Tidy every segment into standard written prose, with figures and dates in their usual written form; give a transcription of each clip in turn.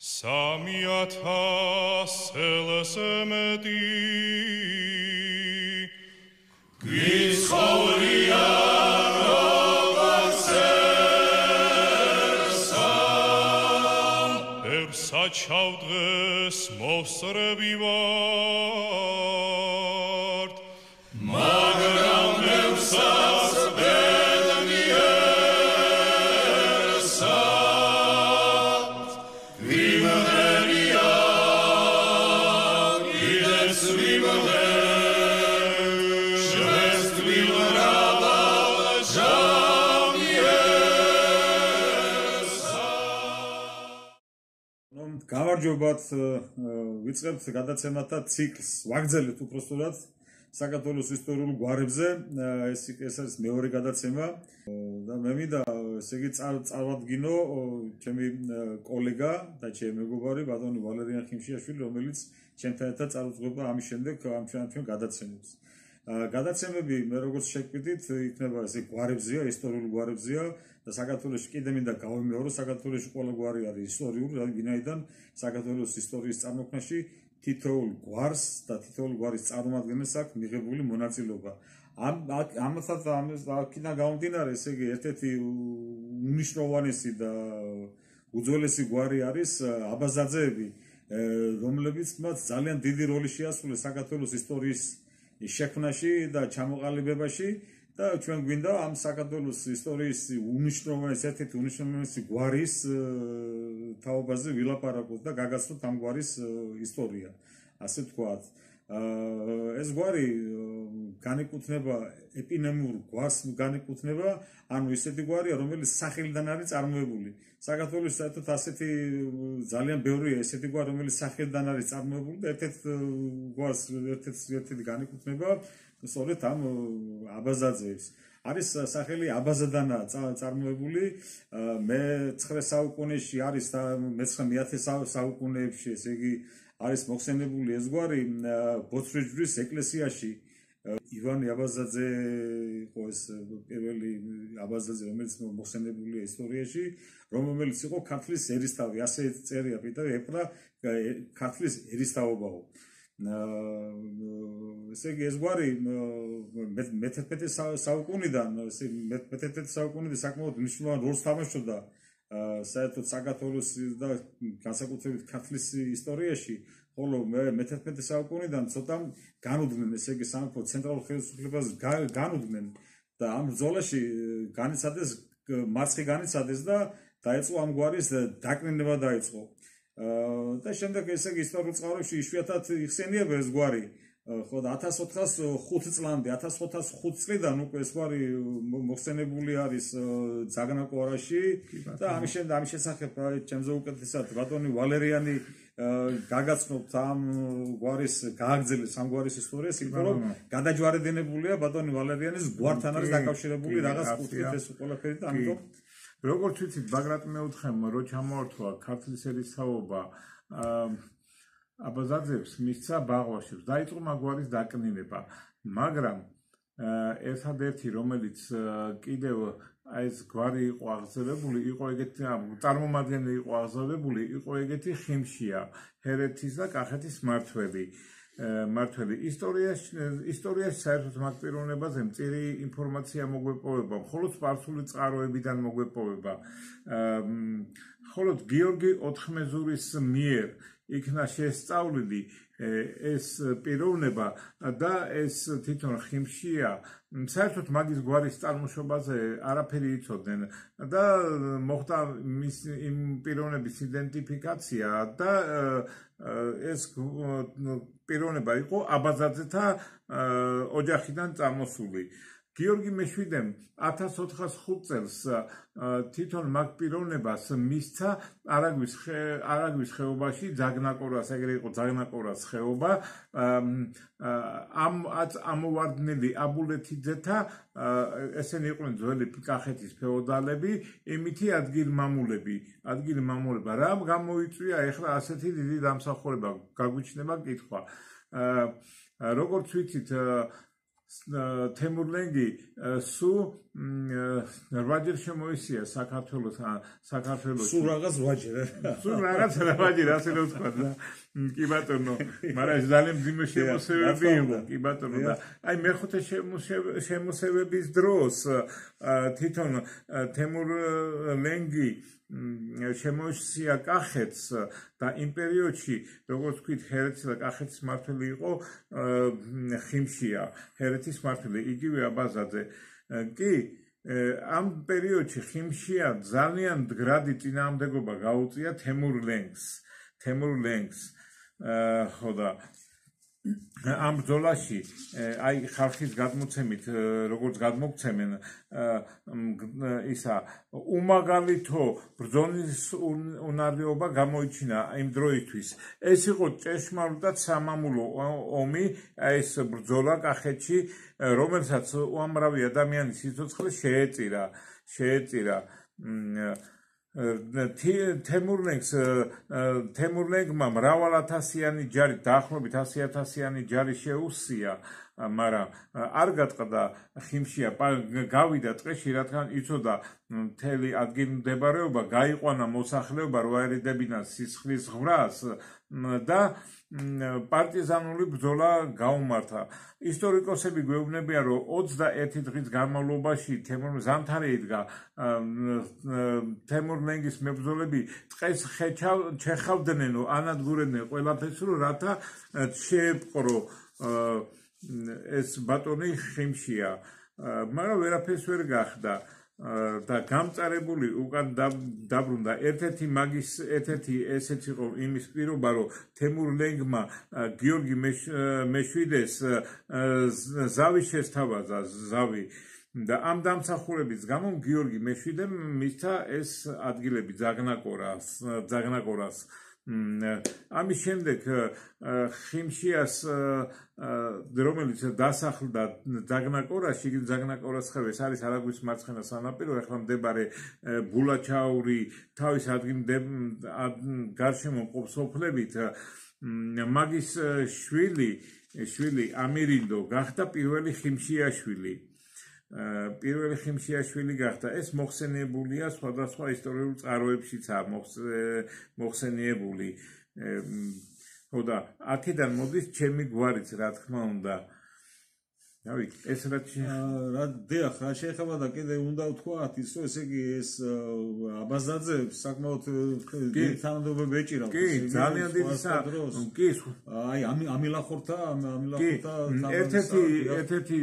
3,000 მეტი გიცხოვრია როგორც ერსა ერსა ჩავდღეს მოსწრები ვართ მაგრამ ერსაც ბედნი ერსა ვიმღერია კიდეც ვიმღერ შევესთ ვიმღრავა ჟამი ერსა გამარჯობათ ვიწყებთ გადაცემათა ციკლს ვაგრძელებთ უпростоრად საქართველოს ისტორიულ გვარებზე ეს არის მეორე გადაცემა და მე მინდა ესე იგი წავადგინო ჩემი კოლეგა და ჩემი მეგობარი ბატონი ვალერიან ხიმშიაშვილი რომელიც ჩემთან ერთად წარუძღვება ამის შემდეგ ამ ჩვენ გადაცემებს გადაცემები მე როგორც შეგვიდით იქნება ესე გვარებზია ისტორიულ გვარებზია და საქართველოს კიდე მინდა გავიმეორო საქართველოს ყველა გვარი არის ისტორიული ვინაიდან საქართველოს ისტორიის წარმოქმნაში თითოეულ გვარს და თითოეულ გვარის წარმომადგენელს აქვს მიღებული მონაწილეობა. ამასთან გამომდინარე, ესე იგი, ერთ-ერთი უნიშნულოვანესი და უძველესი გვარი არის აბაზაძეები, რომლებიც ძალიან დიდი როლი შეასრულეს საქართველოს ისტორიის შექმნაში და ჩამოყალიბებაში და ჩვენ გვინდა ამ საქართველოს ისტორიის ერთ-ერთი უნიშნულოვანესი გვარის თაობაზე ვილაპარაკოთ და გაგაცნოთ ამ გვარის ისტორია, ასე ვთქვათ. ეს გვარი განეკუთვნება ეპონიმურ გვარს განეკუთვნება, ანუ ისეთი გვარია, რომელიც სახელიდან არის წარმოებული. საქართველოს საერთოდ ასეთი ძალიან ბევრია ესეთი გვარი, რომელიც სახელიდან არის წარმოებული და ერთ-ერთ გვარს ერთ-ერთი განეკუთვნება სწორედ ამ აბაზაძეებს. არის სახელი აბაზადანაა წარმოებული მე-9 საუკუნეში არის და მე-1000 საუკუნეებში, ესე იგი არის მოხსენებული ეს გვარი ბოცრიჯვრის ეკლესიაში. ივანე აბაზაძე იყო ეს პირველი აბაზაძე, რომელიც მოხსენებულია ისტორიაში, რომელიც იყო ქართლის ერისთავი, ასე წერია პიტერ ეპრა ქართლის ერისთავობაო. ესე იგი ეს გვარი მე-11 საუკუნიდან საკმაოდ მნიშვნელოვან როლს თამაშობდა საერთოდ საქართველოს და განსაკუთრებით ქართლის ისტორიაში, ხოლო მე-11 საუკუნიდან ცოტა განუდგნენ, ესე იგი სამეფო ცენტრალურ ხელისუფლებას განუდგნენ და ამ ბრძოლაში მარცხი განიცადეს და დაიწყო ამ გვარის დაკნინება დაიწყო. და შემდეგ ესე იგი ისტორიულ წყაროებში იშვიათად იხსენიება ეს გვარი. ხო და 1405 წლიდან უკვე ეს გვარი მოხსენებული არის ძაგნაკორაში და ამის შესახებ ჩემზე უკეთესად ბატონი ვალერიანი გაგაცნობთ ამ გვარის გააგრძელეს ამ გვარის ისტორიას, იმიტომ რომ გადაჯვარედინებულია ბატონი ვალერიანის გვართან არის დაკავშირებული რაღაც კუთხით ეს ყველაფერი და ამიტომ როგორც ვიცით, ბაგრატ მეუთხემ რო ჩამოართვა ქართლის ერისთავობა აბაზაძეებს მისცა ბაღვაში, დაიწყო მაგვარის დაკნინება, მაგრამ ერთადერთი რომელიც კიდევ ეს გვარი იყო აღზევებული, იყო ეგეთი წარმომადგენელი იყო აღზევებული, იყო ეგეთი ხიმშია, ჰერეთის და კახეთის მმართველი. ისტორიაში საერთოდ მაგ პიროვნებაზე მწირი ინფორმაცია მოგვეპოვება, მხოლოდ სპარსული წყაროებიდან მოგვეპოვება. მხოლოდ გიორგი ოთხმეზურის მიერ იქნა შესწავლილი ეს პიროვნება და ეს თვითონ ხიმშია საერთოდ მაგის გვარის წარმოშობაზე არაფერი იცოდნენ და მოხდა იმ პიროვნების იდენტიფიკაცია და ეს პიროვნება იყო აბაზაძეთა ოჯახიდან წამოსული. გიორგი მეშვიდემ 1405 წელს თვითონ მაგ პიროვნებას მისცა არაგვის ხეობაში ძაგნაკორას, ეგრე იყო ძაგნაკორას ხეობა, ამოვარდნელი აბულეთიძეთა, ესენი იყვნენ ძველი კახეთის ფეოდალები, იმითი ადგილმამულები, რა გამოიწვია ეხლა ასეთი დიდი დამსახურება, გაგვიჩნდება კითხვა. როგორც ვიცით, თემურლენგი სულ 8-ჯერ შემოისია საქართველოს სულ რაღაც 8-ჯერ სულ რაღაც 8-ჯერ ასე რომ ვთქვა და კი ბატონო მაგრამ ეს ძალიან მძიმე შემოსევები იყო კი ბატონო და აი მეხუთე შემოსევების დროს თვითონ თემურლენგი შემოისია კახეთს და იმ პერიოდში როგორც ვთქვით ჰერეთის და კახეთის მმართველი იყო ხიმშია ჰერეთის მმართველი იგივე აბაზაძე კი ამ პერიოდში ხიმშია ძალიან მდგრადი წინააღმდეგობა გაუწია თემურლენგს ხო და ამ ბრძოლაში აი ხალხის გადმოცემით როგორც გადმოგცემენ ისა უმაგალითო ბრძოლის უნარიობა გამოიჩინა იმ დროისთვის ეს იყო ჭეშმარიტად სამამულო ომი ეს ბრძოლა კახეთში რომელსაც უამრავი ადამიანის სიცოცხლე შეეწირა თემურლენგმა მრავალათასიანი ჯარი დაახლოებით 100,000-იანი ჯარი შეუსია მაგრამ არ გატყდა ხიმშია გავიდა ტყეში რადგან იცოდა მთელი ადგილმდებარეობა გაიყვანა მოსახლეობა რო აერიდებინა სისხლის ღვარს და პარტიზანული ბრძოლა გაუმართა ისტორიკოსები გვეუბნებიან რომ 21 დღის განმავლობაში ზამთარი იდგა თემურლენგის მებრძოლები ტყეს ჩეხავდნენ ანადგურებდნენ ყველაფერს რომ რათა შეეპყრო ეს ბატონი ხიმშია მაგრამ ვერაფერს ვერ გახდა და გამწარებული უკან დაბრუნდა ერთ-ერთი ესეც იყო იმის პირობა რომ თემურლენგმა გიორგი მეშვიდეს ზავი შესთავაზა და ამ დამსახურების გამო გიორგი მეშვიდემ მისცა ეს ადგილები ძაგნაკორას ამის შემდეგ ხიმშიას რომელიც დასახლდა ძაგნაკორაში ძაგნაკორას ხევეს არის არაგვის მარცხენა სანაპირო ახლა მდებარე ბულაჩაური თავის გარშემო მყოფ სოფლებით მაგის შვილი ამირინდო გახდა პირველი ხიმშიაშვილი გახდა ეს მოხსენიებულია სხვადასხვა ისტორიულ წყაროებშიცაა მოხსენიებული ხო და აქედან მოდის ჩემი გვარიც რა თქმა უნდა დავით ეს რა შეეხება და კიდე უნდა ვთქვათ ის რომ ესე იგი ეს აბაზაძე საკმაოდ თანამდებობები ეჭირავს კი ძალიან დიდი კი აი ამილახორთა ერთ-ერთი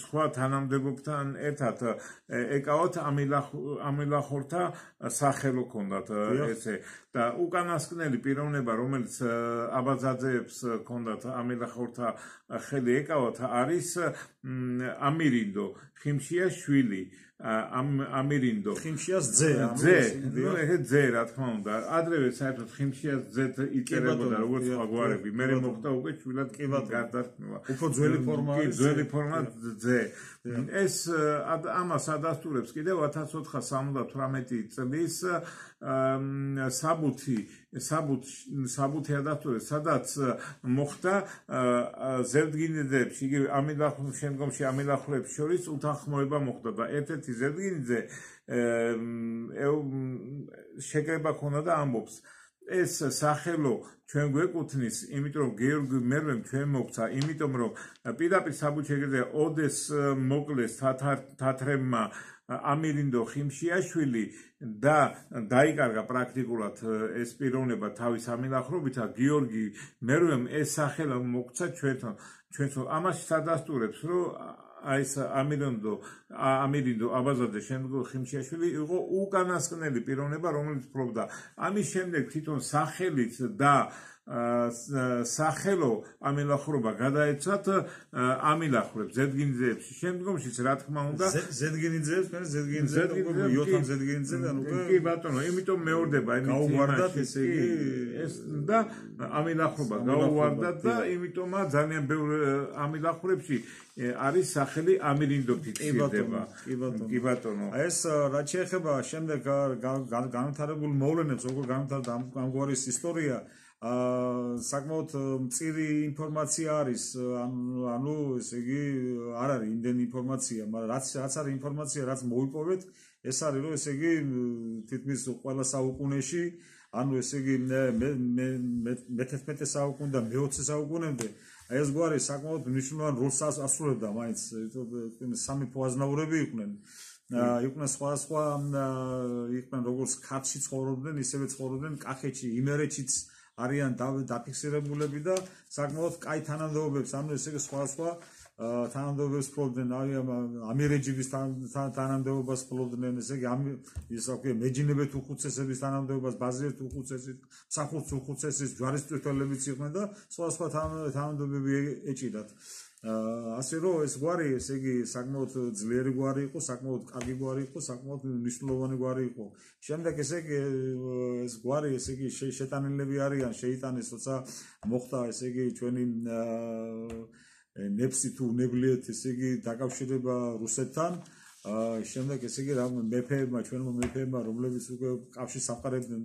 სხვა თანამდებობთან ერთად ეკავათ ამილახორთა სახელო ჰქონდათ ესე და უკანასკნელი პიროვნება რომელიც აბაზაძეებს ჰქონდათ ამილახორთა ხელი ეკავათ არის ამირინდო ხიმშიაშვილი ამირინდო ხიმშიას ძე ძე რა თქმა უნდა ადრევე საერთოდ ხიმშიას ძეთ იწერებოდა როგორც სხვა გვარები მე მოხდა უკვე შვილად გარდაქმნა უფრო ძველი ფორმა არის ძველი ფორმა ძე ეს ამას ადასტურებს კიდევ 1478 წლის საბუთი ადასტურებს სადაც მოხდა ზერდგინიძეებში იგივე შემდგომში ამილახვრებს შორის უთანხმოება მოხდა და ერთ-ერთი ზერდგინიძე შეკრება ქონდა და ამბობს ეს სახელო ჩვენ გვეკუთვნის იმიტომ რომ გიორგი მერვემ ჩვენ მოგცა იმიტომ რომ პირდაპირ საბუთში ოდეს მოკლეს თათრებმა ამირინდო ხიმშიაშვილი და დაიკარგა პრაქტიკულად ეს პიროვნება თავის ამილახრობით გიორგი მერვემ ეს სახელი მოგცა ჩვენთან ამაში სადასტურებს რომ აი ეს ამირინდო აბაზაძე შემდგომ ხიმშიაშვილი იყო უკანასკნელი პიროვნება რომელიც ფლობდა ამის შემდეგ თვითონ სახელით და სახელო ამილახრობა გადაეცათ ამილახრებს ზედგინიძეებში შემდგომშიც რა თქმა უნდა იოთამ ზედგინიძედან უკვე კი ბატონო იმიტომ მეორდება გაუვარდათ ესე იგი ეს და ამილახრობა გაუვარდათ და იმიტომა ძალიან ბევრ ამილახრებში არის სახელი ამირინდო ფიქსირდება კი ბატონო ეს რაც შეეხება შემდეგ განვითარებულ მოვლენებს როგორ განვითარდა ამგვარის ისტორია საკმაოდ მწირი ინფორმაცია არის, ანუ ესე იგი არ არის იმდენი ინფორმაცია, მაგრამ რაც არის ინფორმაცია, რაც მოვიპოვეთ, ეს არის რომ ესე იგი თითქმის ყველა საუკუნეში, ანუ ესე იგი მე-11 საუკუნე და მე-20 საუკუნემდე ეს გვარი საკმაოდ მნიშვნელოვან როლს ასრულებდა მაინც სამეფო აზნაურები იყვნენ. იყვნენ სხვადასხვა იყვნენ როგორც ქართლში ცხოვრობდნენ, ისევე ცხოვრობდნენ კახეთში, იმერეთშიც არიან დაფიქსირებულები და საკმაოდ კაი თანამდებობებს, ანუ ესე იგი სხვადასხვა თანამდებობებს ფლობდნენ, ამირეჯიბის თანამდებობას ფლობდნენ, ესე იგი ისე მეჯინებეთ უხუცესების თანამდებობას, ბაზირეთ უხუცესის, მსახურც უხუცესის, ჯვარისმწვრთნელებიც იყვნენ და სხვადასხვა თანამდებობები ეჭიდათ. ასე რომ ეს გვარი, ესე იგი საკმაოდ ძლიერი გვარი იყო, საკმაოდ კარგი გვარი იყო, საკმაოდ მნიშვნელოვანი გვარი იყო. შემდეგ ესე იგი ეს გვარი, ესე იგი შეტანილები არიან, შეიტანეს, როცა მოხდა ესე იგი ჩვენი ნეფსი თუ უნებლიეთ ესე იგი დაკავშირება რუსეთთან. შემდეგ ესე იგი რა მეფეებმა, ჩვენმა მეფეებმა, რომლებიც უკვე კავშირს ამყარებდნენ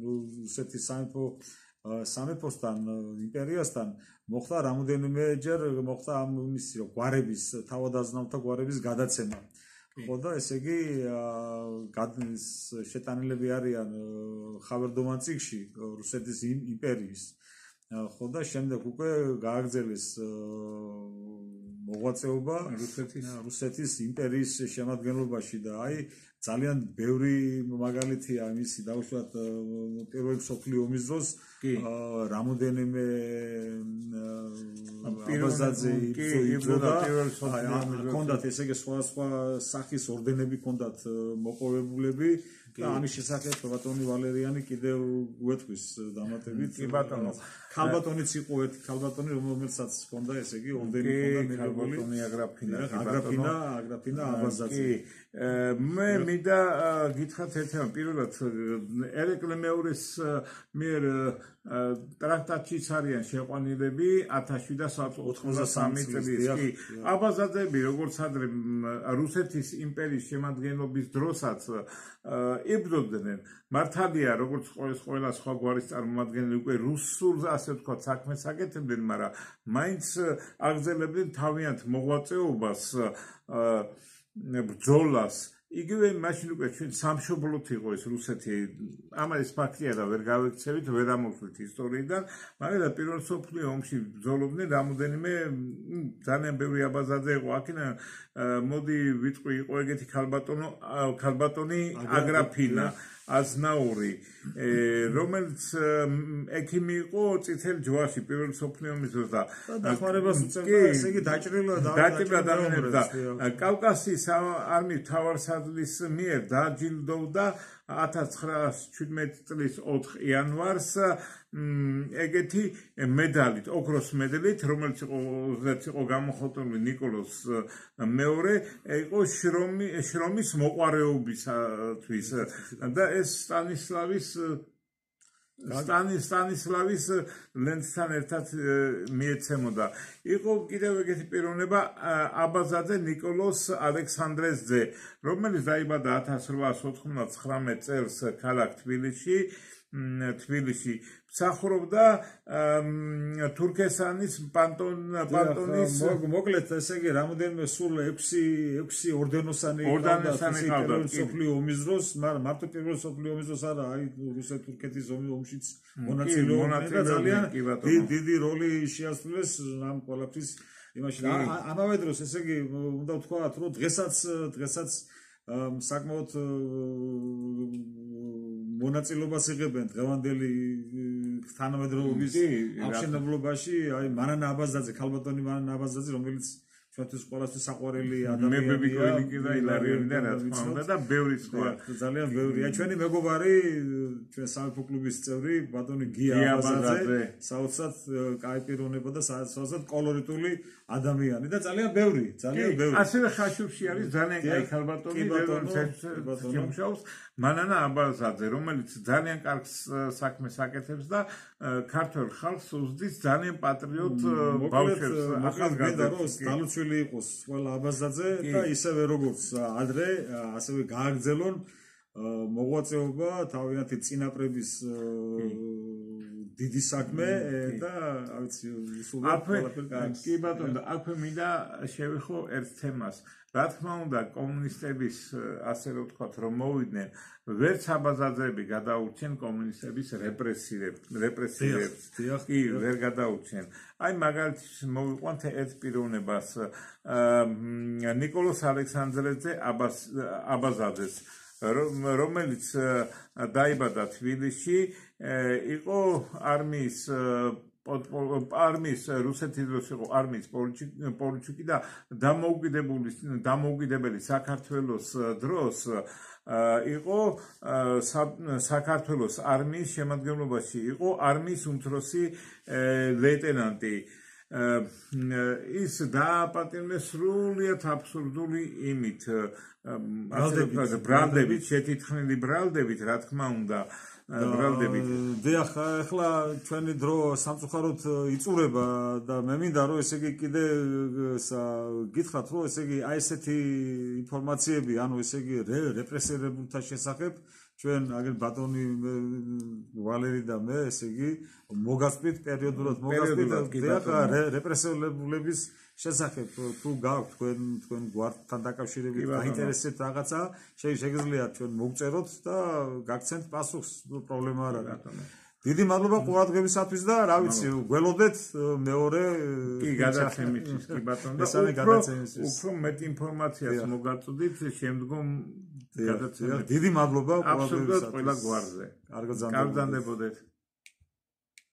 რუსეთის სამეფოსთან, იმპერიასთან, მოხდა რამოდენიმეჯერ მოხდა ამ მისი გვარების, თავადაზნაურთა გვარების გადაცემა. ხო და ესე იგი შეტანილები არიან ხავერდოვან წიგნში რუსეთის იმპერიის. ხო და შემდეგ უკვე გააგრძელეს მოღვაწეობა რუსეთის იმპერიის შემადგენლობაში და აი ძალიან ბევრი მაგალითია მისი დაუშვათ პირველი მსოფლიო ომის დროს რამოდენიმე აბაზაძე იბრძოდა ჰქონდათ ესე იგი სხვადასხვა სახის ორდენები ჰქონდათ მოპოვებულები და ამის შესახებ ბატონი ვალერიანი კიდევ უეთქვის დამატებით კი ბატონო ქალბატონიც იყო ერთი ქალბატონი რომელსაც ჰქონდა ესე იგი ორდენი ჰქონდა ქალბატონი აგრაფინა აბაზაძე მე მინდა გითხრათ ერთმა პირველად ერეკლე მეურის მიერ ტრაქტატშიც არიან შეყვანილები 1793 წლის კი აბაზაძეები როგორც ადრე რუსეთის იმპერიის შემადგენლობის დროსაც იბრძოდნენ მართალია როგორც ყველა სხვა გვარის წარმომადგენლები უკვე რუსულ ასე ვთქვათ საქმეს აკეთებდნენ მაგრამ მაინც აგრძელებდნენ თავიანთ მოღვაწეობას ბრძოლას იგივე მაშინ უკვე ჩვენ სამშობლოთ იყო ეს რუსეთი ამას ფაქტია და ვერ გავექცევით ვერ ამოვხდით ისტორიიდან მაგრამ პირველ მსოფლიო ომში ბრძოლობდნენ რამოდენიმე ძალიან ბევრი აბაზაძე იყო აქედან მოდი ვიტყვი იყო ეგეთი ქალბატონი აგრაფინა აზნაური რომელიც ექიმი იყო წითელ ჯვარში პირველ მსოფლიო ომის დროს და დახმარებას უწევდა ესე იგი დაჭრილდა კავკასიის არმიის მთავარსარდლის მიერ დააჯილდოვდა 1917 წლის 4 იანვარს ეგეთი მედალით, ოქროს მედალით, რომელიც იყო გამოხატული ნიკოლოზ მეორე, იყო შრომის მოყვარეობისათვის და ეს სტანისლავის ლენცთან ერთად მიეცემოდა. იყო კიდევ ეგეთი პიროვნება აბაზაძე ნიკოლოზ ალექსანდრეს ძე, რომელიც დაიბადა 1899 წელს ქალაქ თბილისში მსახურობდა თურქესანის პანტონის მოკლედ ესე იგი რამოდენიმე სულ 6 ორდენოსანი ჰქონდა პირველ მსოფლიო ომის დროს, მაგრამ მარტო პირველ მსოფლიო ომის დროს არა, აი რუსეთ-თურქეთის ომშიც მონაწილეობდა და ძალიან დიდი როლი შეასრულეს ამ ყველაფრის იმაში. ამავე დროს ესე იგი უნდა ვთქვათ, რომ დღესაც საკმაოდ მონაწილეობას იღებენ დღევანდელი თანამედროვეობის აღშენებლობაში, აი მანანა აბაზაძე, ქალბატონი მანანა აბაზაძე, რომელიც ჩვენთვის ყველასთვის საყვარელი ადამიანია და ილარიონი და რა თქმა უნდა და ბევრი სხვა ძალიან ბევრია. ჩვენი მეგობარი, ჩვენ სამეფო კლუბის წევრი, ბატონი გია აბაზაძე, საოცრად კაი პიროვნება და საოცრად კოლორიტული ადამიანი და ძალიან ბევრი. ასევე ხაშურში არის ძალიან კაი ქალბატონი, შემუშავებს მანანა აბაზაძე, რომელიც ძალიან კარგ საქმეს აკეთებს და ქართველ ხალხს უსდის ძალიან პატრიოტ ბავშვებს. ახალგაზრდას განუცველი იყოს ყველა აბაზაძე და ისევე როგორც ადრე, ასევე გააგრძელონ მოღვაწეობა თავიანთი წინაპრების დიდი საქმე და კი ბატონო, აქვე მინდა შევიხო ერთ თემას. Რა თქმა უნდა, კომუნისტების ასე რომ ვთქვათ, რომ მოვიდნენ, ვერც აბაზაძეები გადაურჩენ კომუნისტების რეპრესირებს. კი, ვერ გადაურჩენ. აი მაგალითად მოვიყვანთ ერთ პიროვნებას, ნიკოლოზ ალექსანდრეძე აბაზაძეს, რომელიც დაიბადა თბილისში, იყო არმიის რუსეთის დროს იყო არმიის პოლიჩუკი და დამოუკიდებელი საქართველოს დროს იყო საქართველოს არმიის შემადგენლობაში, იყო არმიის უმცროსი ლეიტენანტი. ის დააპატიმრეს სრულიად აბსურდული იმით, ბრალდებით, შეთითხმილი ბრალდებით, რა თქმა უნდა, ბრალდებით. დიახ, ახლა ჩვენი დრო სამწუხაროდ იწურება და მე მინდა რომ ესე იგი კიდე გითხრათ რომ ესე იგი აი ესეთი ინფორმაციები, ანუ ესე იგი რეპრესირებულთა შესახებ ჩვენ აგერ ბატონი ვალერი და მე ესე იგი მოგასწრით პერიოდულად რეპრესირებულების შესახებ თუ გაქვთ თქვენ გვართან დაკავშირებით დაინტერესებთ რაღაცა შეგიძლიათ ჩვენ მოგწეროთ და გაგცემთ პასუხს პრობლემა არ არის. დიდი მადლობა ყურადღებისათვის და რა ვიცი გველოდეთ მეორე კი გადაცემისთვის კი ბატონო მესამე გადაცემისთვის უფრო მეტ ინფორმაციას მოგაწოდით შემდგომ გადაცემებში. დიდი მადლობა ყურადღებისათვის ყველა გვარზე. კარგად გრძანდებოდეთ.